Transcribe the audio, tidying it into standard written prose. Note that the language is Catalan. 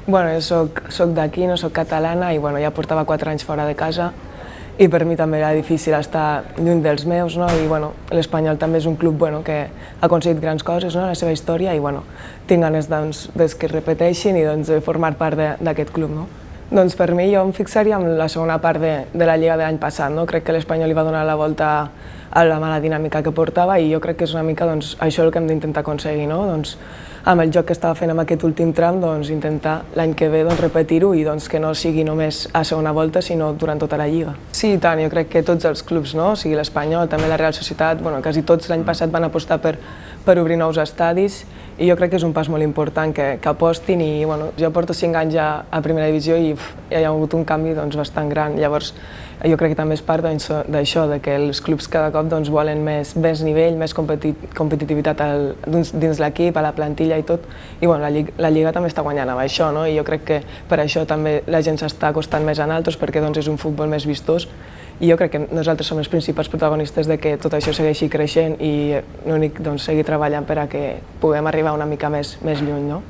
Bueno, jo soc d'aquí, no soc catalana i bueno, ja portava 4 anys fora de casa i per mi també era difícil estar lluny dels meus, no? I bueno, l'Espanyol també és un club que ha aconseguit grans coses, no? En la seva història i bueno, tinc ganes que es repeteixin i de formar part d'aquest club. No? Doncs per mi jo em fixaria en la segona part de la Lliga de l'any passat. No? Crec que l'Espanyol li va donar la volta a la mala dinàmica que portava i jo crec que és una mica això el que hem d'intentar aconseguir. No? Amb el joc que estava fent en aquest últim tram, intentar l'any que ve repetir-ho i que no sigui només a segona volta, sinó durant tota la Lliga. Sí, i tant, jo crec que tots els clubs, no? O sigui, l'Espanyol, també la Real Societat, quasi tots l'any passat van apostar per obrir nous estadis i jo crec que és un pas molt important que apostin i jo porto 5 anys ja a primera divisió i hi ha hagut un canvi bastant gran. Llavors jo crec que també és part d'això, que els clubs cada cop volen més nivell, més competitivitat dins l'equip, a la plantilla i tot. I la Lliga també està guanyant amb això, no? I jo crec que per això també la gent s'està acostant més a nosaltres perquè és un futbol més vistós i jo crec que nosaltres som els principals protagonistes de que tot això segueixi creixent i l'únic seguir treballant per a que puguem arribar una mica més lluny. No?